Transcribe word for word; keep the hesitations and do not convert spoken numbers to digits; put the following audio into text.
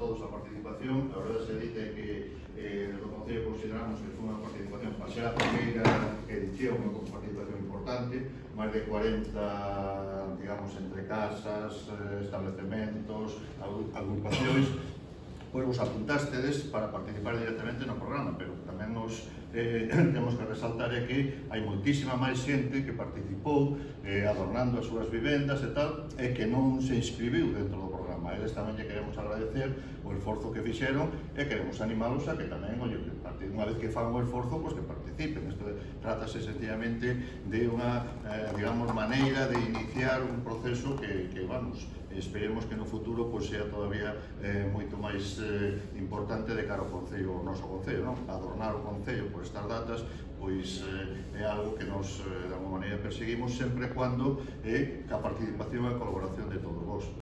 todos a participación. A verdade se dite que eh, no Concello consideramos que foi unha participación para ser a primeira edición, unha participación importante, máis de cuarenta, digamos, entre casas, establecementos, agrupacións. Pois vos apuntástedes para participar directamente no programa, pero tamén nos eh, temos que resaltar é que hai moitísima máis xente que participou eh, adornando as súas vivendas e tal, e que non se inscribiu dentro do programa. Eles tamén lle queremos agradecer o esforzo que fixeron e queremos animalos a que tamén, oye, unha vez que fan o esforzo, pois que participen. Isto trátase sencillamente de unha, eh, digamos, maneira de iniciar un proceso que, que vamos, esperemos que no futuro pois, sea todavía eh, moito máis eh, importante de cara ao Concello, o noso Concello, non? Adornar o Concello por estas datas pois eh, é algo que nos, eh, de alguma maneira, perseguimos sempre e cando é eh, a participación e a colaboración de todos vos.